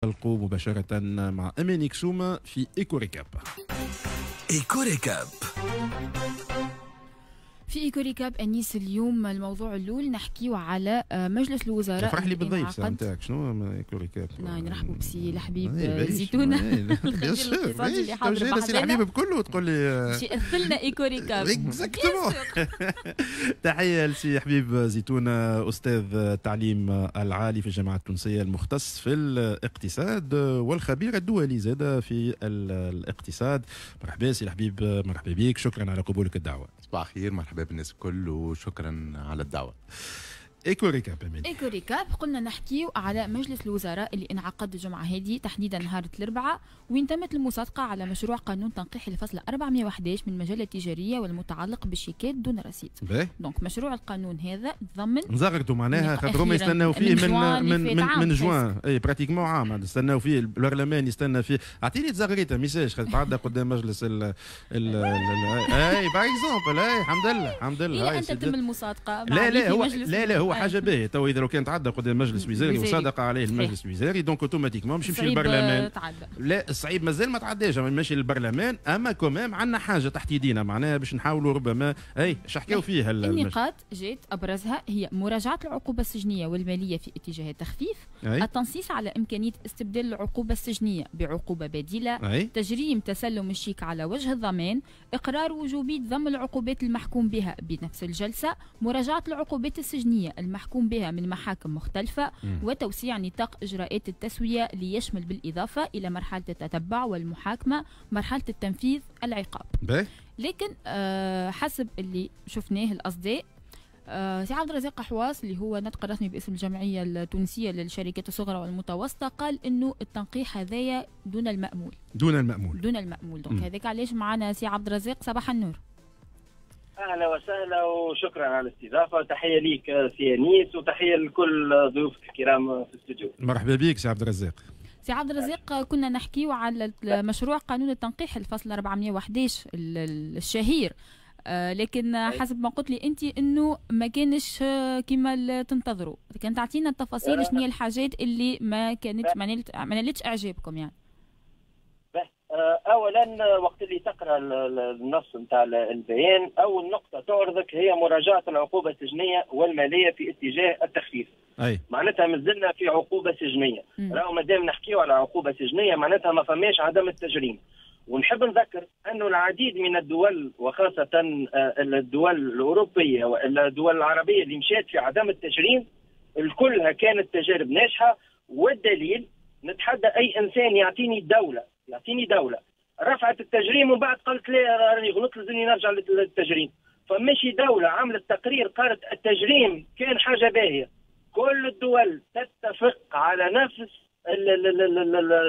ننطلقوا مباشرة مع أماني كسومة في Éco Récap. Éco Récap. في Éco Récap انيس، اليوم الموضوع الاول نحكيو على مجلس الوزراء. فرح لي بالضيف نتاعك، شنو Éco Récap؟ نرحبوا بسي الحبيب زيتونه. bien sûr، اللي سي الحبيب بكله تقول لي باش يأثلنا Éco Récap. Exactement. تحية لسي حبيب زيتونه، استاذ التعليم العالي في الجامعة التونسيه، المختص في الاقتصاد والخبير الدولي زاد في الاقتصاد. مرحبا سي الحبيب، مرحبا بك، شكرا على قبولك الدعوه. صباح الخير، مرحبا بالناس الكل وشكرا على الدعوه. Éco Récap. Éco Récap، قلنا نحكيو على مجلس الوزراء اللي انعقد الجمعة هذه، تحديدا نهار الاربعاء، وين تمت المصادقة على مشروع قانون تنقيح الفصل 411 من المجلة التجارية والمتعلق بالشيكات دون رصيد. donc مشروع القانون هذا تضمن نزغرتوا معناها، خاطر هما يستناو فيه من جوان، اي pratiquement عام يستناو فيه، البرلمان يستنى فيه. اعطيني تزغريته message خاطر تعدى قدام مجلس ال ال اي par exemple، اي الحمد لله، الحمد لله. الى ان تتم المصادقه. لا لا، هو لا لا، هو حاجة باهيه. تو اذا لو كان تعدى قدام مجلس وزاري وصادق عليه المجلس الوزاري، donc automatiquement باش يمشي للبرلمان. لا، الصعيب مازال ما تعداش، ماشي للبرلمان، اما quand même عندنا حاجة تحت يدينا معناها باش نحاولوا ربما. اي اش حكاو فيها؟ النقاط جات ابرزها هي مراجعه العقوبة السجنيه والمالية في اتجاه التخفيف، أي. التنصيص على امكانية استبدال العقوبة السجنيه بعقوبة بديله، أي. تجريم تسلم الشيك على وجه الضمان، اقرار وجوبيه ضم العقوبات المحكوم بها بنفس الجلسه، مراجعه العقوبات السجنيه المحكوم بها من محاكم مختلفة، وتوسيع نطاق إجراءات التسوية ليشمل بالإضافة إلى مرحلة التتبع والمحاكمة مرحلة التنفيذ العقاب. لكن حسب اللي شفناه الأصداء، سي عبد الرزاق حواس اللي هو ناطق الرسمي باسم الجمعية التونسية للشركات الصغرى والمتوسطة قال انه التنقيح هذايا دون المأمول. دون المأمول. دون المأمول. donc هذاك علاش معنا سي عبد الرزاق. صباح النور. اهلا وسهلا وشكرا على الاستضافه، تحية ليك سي انيس وتحية لكل ضيوفك الكرام في الاستوديو. مرحبا بك سي عبد الرزاق. سي عبد الرزاق، كنا نحكيو على مشروع قانون التنقيح الفصل 411 الشهير، لكن حسب ما قلت لي انت انه ما كانش كما تنتظروا. كان تعطينا التفاصيل، شنو هي الحاجات اللي ما كانت ما نالتش اعجابكم يعني؟ اولا وقت اللي تقرا النص نتاع البيان، اول نقطة تعرضك هي مراجعه العقوبة السجنيه والمالية في اتجاه التخفيف. أي. معناتها مازلنا في عقوبه سجنيه. راهو مادام نحكيو على عقوبه سجنيه معناتها ما فماش عدم التجريم. ونحب نذكر أنه العديد من الدول وخاصة الدول الأوروبية والدول العربية اللي مشات في عدم التجريم الكلها كانت تجارب ناجحة. والدليل نتحدى أي إنسان يعطيني دولة رفعت التجريم ومن بعد قالت لا، راني غلطت، لازمني نرجع للتجريم. فماشي دولة عملت تقرير قالت التجريم كان حاجة باهية. كل الدول تتفق على نفس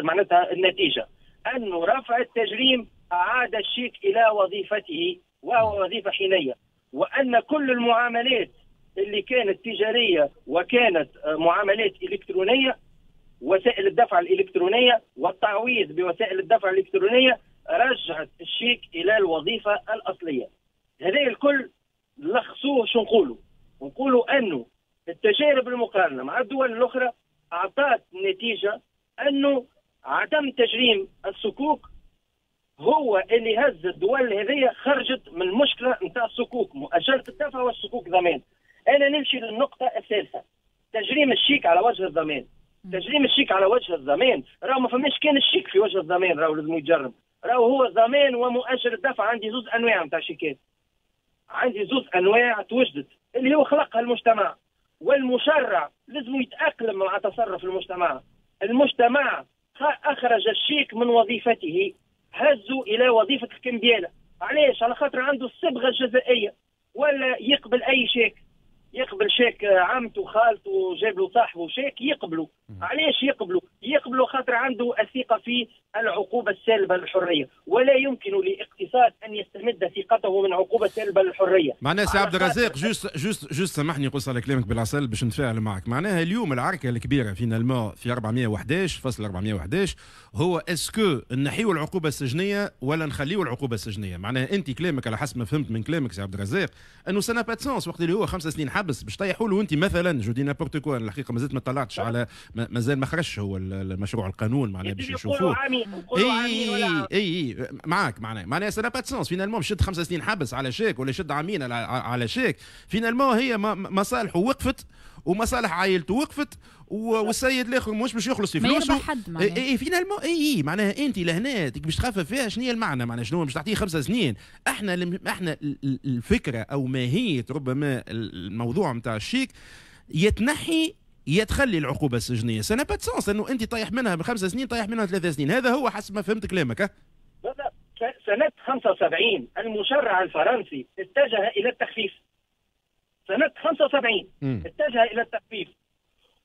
معناتها النتيجة، أنه رفع التجريم أعاد الشيك إلى وظيفته وهو وظيفة حينية، وأن كل المعاملات اللي كانت تجارية وكانت معاملات إلكترونية، وسائل الدفع الإلكترونية والتعويض بوسائل الدفع الإلكترونية رجعت الشيك إلى الوظيفة الأصلية. هذا الكل لخصوه شو نقولوا؟ نقولوا أنه التجارب المقارنة مع الدول الأخرى أعطت نتيجة أنه عدم تجريم الصكوك هو اللي هز الدول هذه، خرجت من المشكلة نتاع الصكوك مؤجلة الدفع والصكوك ضمان. انا نمشي للنقطة الثالثه، تجريم الشيك على وجه الضمان. تجريم الشيك على وجه الضمان، راهو ما فماش كان الشيك في وجه الضمان راهو لازم يتجرم، راهو هو ضمان ومؤجل الدفع. عندي زوز انواع نتاع شيكات، عندي زوز انواع توجدت اللي هو خلقها المجتمع، والمشرع لازم يتاقلم مع تصرف المجتمع. المجتمع اخرج الشيك من وظيفته، هزوا الى وظيفة الكمبياله. علاش؟ على خاطر عنده الصبغه الجزائيه، ولا يقبل اي شيك، يقبل شيك عمته، خالته، جاب له صاحبه شيك يقبلوا. علاش يقبلوا؟ يقبلوا خاطر عنده الثقة في العقوبة السالبه للحريه، ولا يمكن لاقتصاد الاقتصاد ان يستمد ثقته من عقوبه سالبه للحرية. معناها سي عبد الرزاق، juste سامحني نقص على كلامك بالعسل باش نتفاعل معك. معناها اليوم العركه الكبيرة finalement في 411 فصل 411 هو est-ce que نحيو العقوبة السجنيه ولا نخليو العقوبة السجنيه؟ معناها انت كلامك على حسب ما فهمت من كلامك سي عبد الرزاق انه ça n'a pas de sens وقت اللي هو 5 سنين حبس باش طيحوا له انت مثلا، je dis n'importe quoi، الحقيقة مازلت ما طلعتش على، مازال ما خرجش هو المشروع القانون معناها باش نشوفوه. اي اي اي معاك. معناها ça n'a pas de sens finalement باش يشد 5 سنين حبس على شيك ولا يشد عامين على شيك. finalement هي مصالحه وقفت ومصالح عائلته وقفت والسيد الاخر مش باش يخلص في فلوسه. ما حد. اي اي finalement اي معناها انت لهنا باش تخفف فيها، شنو هي المعنى؟ معناها شنو باش تعطيه 5 سنين؟ احنا الفكرة او ماهية ربما الموضوع نتاع الشيك يتنحي يتخلي العقوبة السجنيه. ça n'a pas de sens انه انت طايح منها ب5 سنين، طايح منها 3 سنين. هذا هو حسب ما فهمت كلامك. سنة 75 المشرع الفرنسي اتجه إلى التخفيف. سنة 75 اتجه إلى التخفيف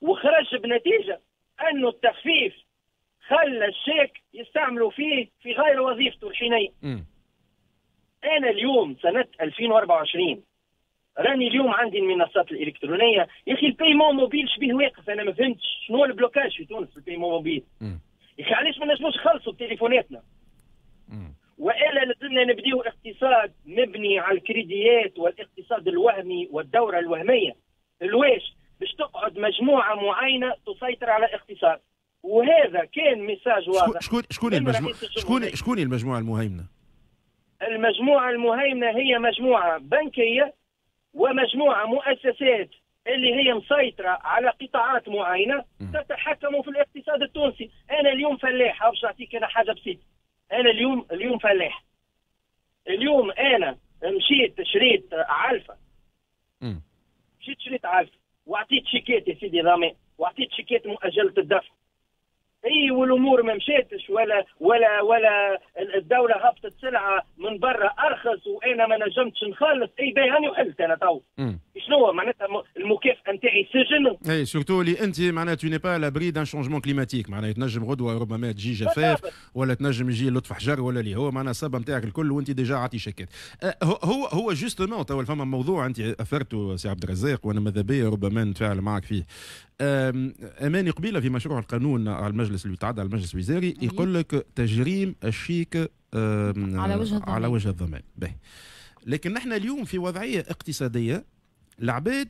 وخرج بنتيجة أنه التخفيف خلى الشيك يستعملوا فيه في غير وظيفته الحينية. أنا اليوم سنة 2024 راني اليوم عندي المنصات الالكترونيه. يا اخي ال paiement mobile شبيه واقف؟ انا ما فهمتش شنو هو ال blocage في تونس في ال paiement mobile. يا اخي علاش ما نجموش نخلصوا بتليفوناتنا؟ والا لازمنا نبديو اقتصاد مبني على الكريديات والاقتصاد الوهمي والدوره الوهميه؟ الواش باش تقعد مجموعة معينة تسيطر على الاقتصاد، وهذا كان message واضح. شكون المجموعة شكون المجموعة المهيمنة؟ المجموعة المهيمنة هي مجموعة بنكيه ومجموعة مؤسسات اللي هي مسيطرة على قطاعات معينة تتحكم في الاقتصاد التونسي. انا اليوم فلاح، باش نعطيك انا حاجة بسيطه، انا اليوم فلاح، اليوم انا مشيت شريت علفه، مشيت شريت علفه وعطيت شيكات يا سيدي ضمان وعطيت شيكات مؤجلة الدفع، اي والامور ما مشاتش ولا الدولة هبطت سلعه من برا ارخص وانا ما نجمتش نخلص. اي باهي، هاني وحلت انا تو، شنو معناتها المكافاة نتاعي؟ سجن. اي surtout اللي انت معناها tu n'es pas à l'abri d'un changement climatique، معناها تنجم غدوه ربما تجي جفاف ولا تنجم يجي لطف حجر ولا اللي هو معناها الصبه نتاعك الكل وانت déjà عاطي شيكات. هو justement تو فما موضوع انت اثرته سي عبد الرزاق وانا ماذا بيا ربما نتفاعل معك فيه. اماني قبيلة في مشروع القانون على المجلس اللي يتعدى على المجلس الوزاري يقول لك تجريم الشيك على وجه الضمان. على وجه الضمان باهي، لكن نحن اليوم في وضعية اقتصادية العباد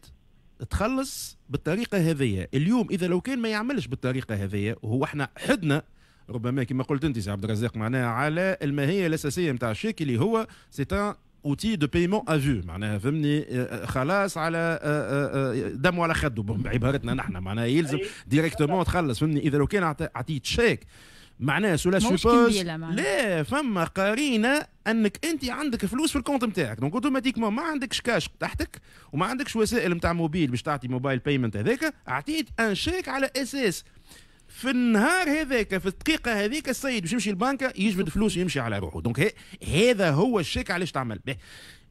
تخلص بالطريقة هذه. اليوم اذا لو كان ما يعملش بالطريقة هذه، وهو احنا حدنا ربما كما قلت انت سي عبد الرزاق معناها على الماهية الاساسية نتاع الشيك اللي هو c'est un outil de paiement à vue، معناها فهمني خلاص على دم وعلى خده بعبارتنا نحن، معناها يلزم directement تخلص فهمني. اذا لو كان عطيت شيك معناها cela suppose لا فما قرينه انك انت عندك فلوس في ال compte نتاعك، donc automatiquement ما عندكش كاش تحتك وما عندكش وسائل نتاع موبيل باش تعطي mobile payment هذاك، اعطيت un chèque على اساس في النهار هذاك في الدقيقة هذيك السيد باش يمشي البنكه يجبد فلوس ويمشي على روحه. donc هذا هو الشيك علاش تعمل به.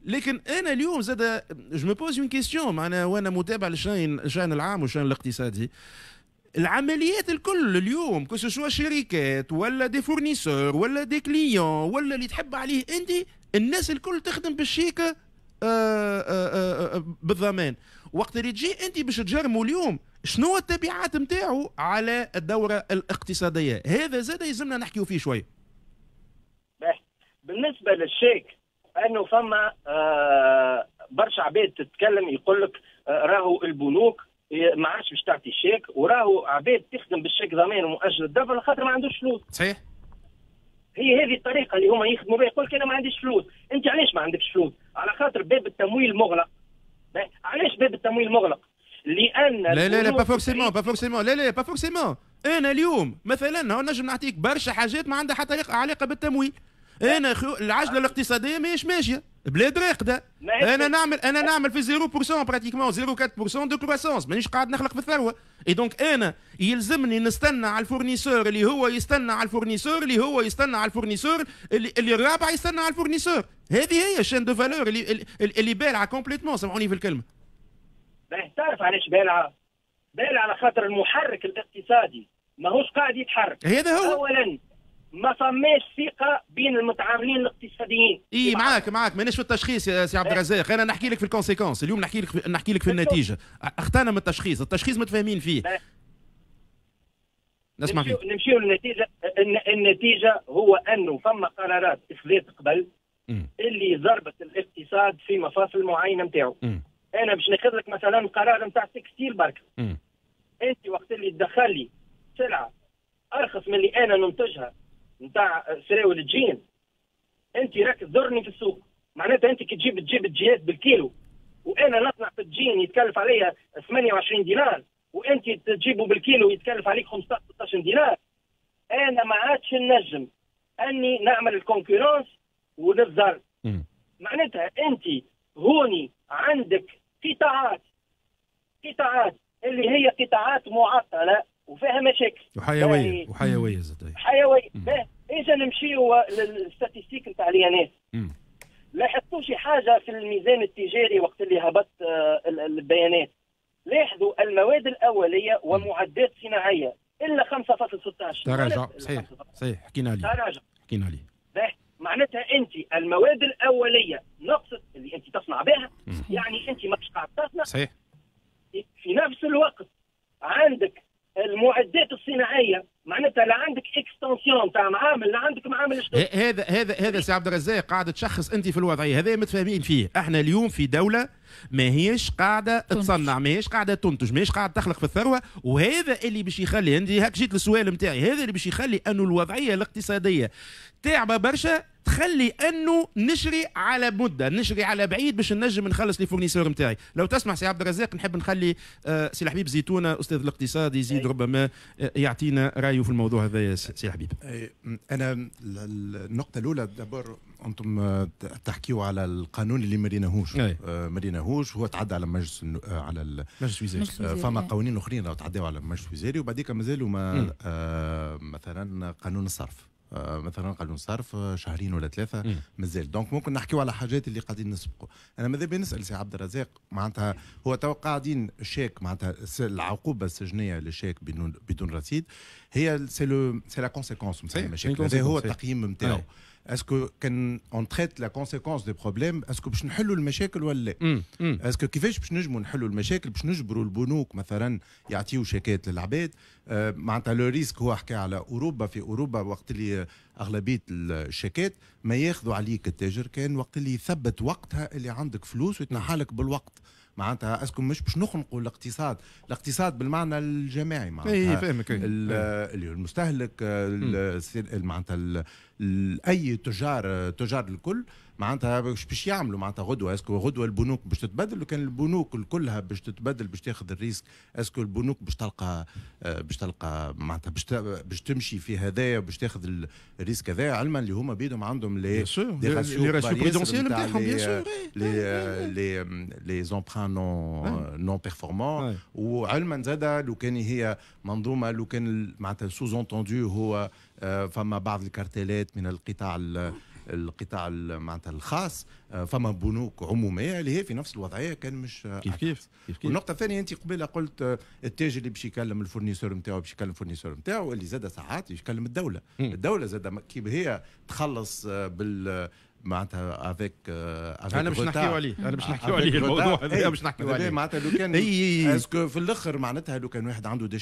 لكن انا اليوم زاد je me pose une question، معناها وانا متابع للشان العام والشان الاقتصادي، العمليات الكل اليوم que ce soit شركات ولا des fournisseurs ولا des clients ولا اللي تحب عليه انت، الناس الكل تخدم بالشيك بالضمان. وقت اللي تجي انت باش تجرموا اليوم، شنو التبعات نتاعو على الدورة الاقتصاديه؟ هذا زاد يلزمنا نحكيو فيه شويه. بالنسبة للشيك انه فما برشا عباد تتكلم يقول لك راهو البنوك ما عادش باش تعطي شيك، وراهو عباد تخدم بالشيك ضمان ومؤجل الدفع خاطر ما عندوش فلوس. هي هذه الطريقة اللي هما يخدموا بها، يقول لك انا ما عنديش فلوس. انت علاش ما عندكش فلوس؟ على خاطر باب التمويل مغلق. علاش باب التمويل مغلق؟ لان لا لا لا، pas forcément، pas forcément، لا لا، pas forcément. انا اليوم مثلا نجم نعطيك برشا حاجات ما عندها حتى علاقة بالتمويل. انا العجلة الاقتصادية ماهيش ماشيه، بلاد راقده. انا نعمل في 0% pratiquement 0.4% de croissance، مانيش قاعد نخلق في الثروه. et donc انا يلزمني نستنى على ال fournisseur اللي هو يستنى على ال fournisseur اللي هو يستنى على ال fournisseur اللي الرابع يستنى على ال fournisseur. هذه هي ال chaîne de valeur اللي بالعه complètement، سامحوني في الكلمه. تعرف علاش بالعه؟ بالعه على خاطر المحرك الاقتصادي ماهوش قاعد يتحرك. هذا هو. اولا ما فماش ثقة بين المتعاملين الاقتصاديين. اي معاك مانيش في التشخيص يا سي عبد الرزاق، انا نحكي لك في ال conséquences اليوم، نحكي لك في النتيجة. اختانا من التشخيص، التشخيص متفاهمين فيه. نسمع فيك. نمشيو للنتيجة. النتيجة هو انه فما قرارات اتخذت قبل اللي ضربت الاقتصاد في مفاصل معينة نتاعو. انا باش ناخذ لك مثلا قرار نتاع textile برك. انت وقت اللي تدخل لي سلعه ارخص من اللي انا ننتجها نتاع سراول الجين، انت راك تضرني في السوق. معناتها انت كي تجيب الجينات بالكيلو وانا نصنع في الجين يتكلف عليا 28 دينار، وانت تجيبه بالكيلو يتكلف عليك 15 16 دينار، انا ما عادش نجم اني نعمل ال concurrence ونتضر. معناتها انت هوني عندك قطاعات اللي هي قطاعات معطلة وفيها مشاكل وحيوية زاد حيوية. اذا نمشيو لل statistiques نتاع l'INS، لاحظتوا شي حاجة في الميزان التجاري وقت اللي هبط البيانات؟ لاحظوا المواد الاولية ومعدات صناعية الا 5.16 تراجع. صحيح حكينا عليه، تراجع حكينا عليه. معناتها انت المواد الاولية نقصت اللي انت تصنع بها، يعني انت ماكش قاعد تصنع. صحيح. في نفس الوقت عندك المعدات الصناعية، معناتها لا عندك extension تاع معامل، لا عندك معامل. هذا سي عبد الرزاق قاعد تشخص انت في الوضعية، هذا متفاهمين فيه. احنا اليوم في دولة ماهيش قاعدة تصنع، ماهيش قاعدة تنتج، ماهيش قاعدة تخلق في الثروة، وهذا اللي باش يخلي عندي هاك جيت للسؤال نتاعي، هذا اللي باش يخلي انه الوضعية الاقتصادية تعبه برشا، تخلي انه نشري على مده، نشري على بعيد باش نجم نخلص les fournisseurs نتاعي. لو تسمح سي عبد الرزاق نحب نخلي سي الحبيب زيتونه استاذ الاقتصاد يزيد ربما يعطينا رايه في الموضوع هذا. يا سي الحبيب، انا النقطة الاولى d'abord انتم تحكيوا على القانون اللي مريناهوش، مريناهوش هو تعدى على مجلس، على مجلس وزاري، فما قوانين اخرين لو تعداوا على مجلس وزاري وبعديك مازالوا ما مثلا قانون الصرف، مثلا قانون الصرف شهرين ولا ثلاثة مازال. donc ممكن نحكيو على حاجات اللي قاعدين نسبقوا. انا ماذا بيا نسال سي عبد الرزاق، معناتها هو تو قاعدين الشيك، معناتها العقوبة السجنيه للشيك بدون رصيد هي c'est la conséquence نتاع المشاكل، هذا هو التقييم نتاعو. est-ce que كان on traite la conséquence des problèmes، est-ce que باش نحلوا المشاكل ولا لا؟ est-ce que كيفاش باش نجموا نحلوا المشاكل؟ باش نجبروا البنوك مثلا يعطيو شيكات للعباد؟ معناتها le risque هو حكى على اوروبا، في اوروبا وقت اللي اغلبية الشيكات ما ياخذوا عليك التاجر كان وقت اللي يثبت وقتها اللي عندك فلوس ويتنحى لك بالوقت. معناتها est-ce que مش باش نخنقوا الاقتصاد، الاقتصاد بالمعنى الجماعي، معناتها فاهمك المستهلك، معناتها اي تجار الكل، معناتها باش يعملوا معناتها غدوه. est-ce que غدوه البنوك باش تتبدل؟ لو كان البنوك كلها باش تتبدل باش تاخذ ال risque، est-ce que البنوك باش تلقى معناتها باش تمشي في هذايا باش تاخذ ال risque هذايا، علما اللي هما بيدهم عندهم les ratios prudentiels نتاعهم، bien sûr les emprunts non performants. وعلما زاد لو كان هي منظومة، لو كان معناتها sous-entendu هو فما بعض الكارتيلات من القطاع معناتها الخاص، فما بنوك عموميه اللي هي في نفس الوضعية كان مش كيف. والنقطة الثانية انت قبيلة قلت التاجر اللي باش يكلم ال fournisseur نتاعو، باش يكلم ال fournisseur نتاعو اللي زاد ساعات يكلم الدولة. الدولة زاد كيف هي تخلص بال معناتها avec انا باش نحكيو عليه، انا باش نحكيو عليه الموضوع هذا، باش نحكيو عليه معناتها لو كان est-ce que في الاخر معناتها لو كان واحد عنده des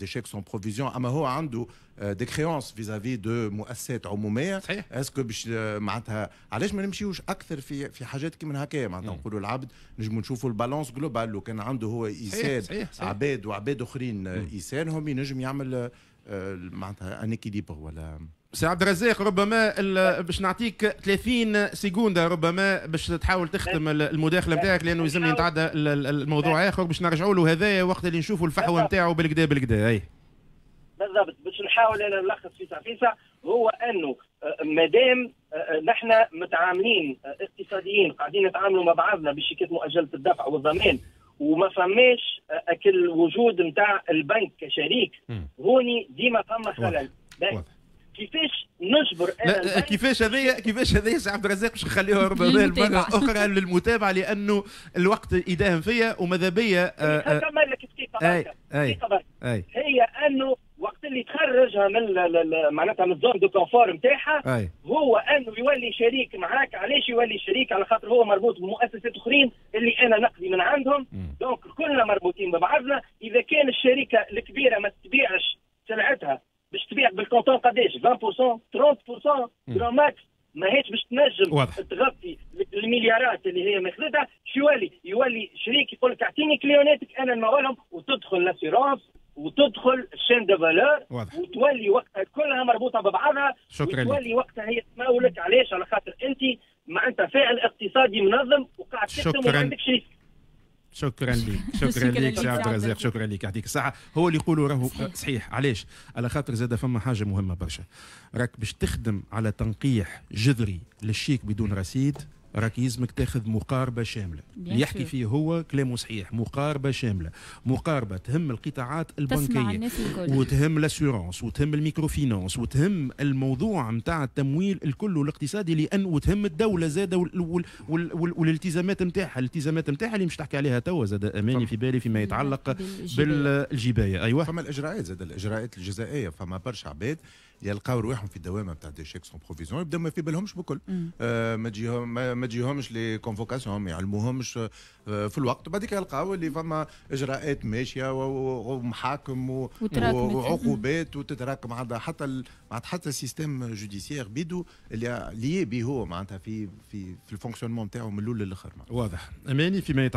chèques sans provision، اما هو عنده des créances vis-à-vis de مؤسسات عموميه، est-ce que باش معناتها علاش ما نمشيوش اكثر في حاجات كيما هكايا؟ معناتها نقولوا العبد نجموا نشوفوا ال balance globale، لو كان عنده هو يسال عباد وعباد اخرين يسالهم ينجم يعمل معناتها un équilibre. ولا سي عبد الرزاق ربما باش نعطيك 30 secondes ربما باش تحاول تختم المداخلة نتاعك، لانه يلزمني نتعدى الموضوع اخر باش نرجعوا له هذايا وقت اللي نشوفوا الفحوى نتاعو بالكدا بالكدا. اي بالضبط، باش نحاول انا نلخص فيسع فيسع، هو انه مادام نحن متعاملين اقتصاديين قاعدين نتعاملوا مع بعضنا بشيكات مؤجلة الدفع والضمان، وما فماش اكل وجود نتاع البنك كشريك، هوني ديما فما خلل. كيفاش نجبر انا كيفاش هذايا، كيفاش هذايا سي عبد الرزاق باش نخليوها ربما مرة اخرى للمتابعة، لانه الوقت يداهم فيا وماذا بيا. نكمل لك دقيقة. اي هي انه وقت اللي تخرجها من معناتها من ال zone de confort نتاعها، هو انه يولي شريك معاك. علاش يولي شريك؟ على خاطر هو مربوط بمؤسسات اخرين اللي انا نقضي من عندهم، donc كلنا مربوطين ببعضنا. اذا كان الشركة الكبيرة ما تبيعش سلعتها، باش تبيع بال comptant قداش؟ 20%، 30% grand max، ماهيش باش تنجم تغطي المليارات اللي هي ماخذتها. شو يولي؟ يولي شريك، يقول لك اعطيني client اتك انا نمولهم، وتدخل l'assurance وتدخل ال chaîne de valeur، وتولي وقتها كلها مربوطة ببعضها. شكرا. وتولي وقتها هي تمولك. علاش؟ على خاطر انت معناتها فاعل اقتصادي منظم وقاعد تخدم وما عندكش risque. شكرا لك، شكرا لك سي عبد الرزاق، شكرا لك، يعطيك الصحة. هو اللي يقولوا راهو صحيح. علاش؟ على خاطر زاد فما حاجة مهمة برشا، راك باش تخدم على تنقيح جذري للشيك بدون رصيد، راك يلزمك تاخذ مقاربة شامله. اللي يحكي فيه هو كلامه صحيح، مقاربة شامله، مقاربة تهم القطاعات البنكية وتهم l'assurance وتهم ال microfinance وتهم الموضوع نتاع التمويل الكل الاقتصادي، لان وتهم الدولة زاده والالتزامات نتاعها، الالتزامات نتاعها اللي مش تحكي عليها توا زاد اماني في بالي فيما يتعلق بالجبايه. ايوه. فما الاجراءات زاد، الاجراءات الجزائيه. فما برشا عباد يلقاو رواحهم في الدوامة نتاع des chèques sans provision، يبداو ما في بالهمش بكل، ما تجيهمش les convocations، ما يعلموهمش في الوقت. بعديك يلقاو اللي فما اجراءات ماشية ومحاكم وعقوبات وتتراكم، عندها حتى ال système judiciaire بيدو اللي lié به هو معناتها في ال fonctionnement نتاعو من الاول للاخر. واضح اماني فيما يتعلق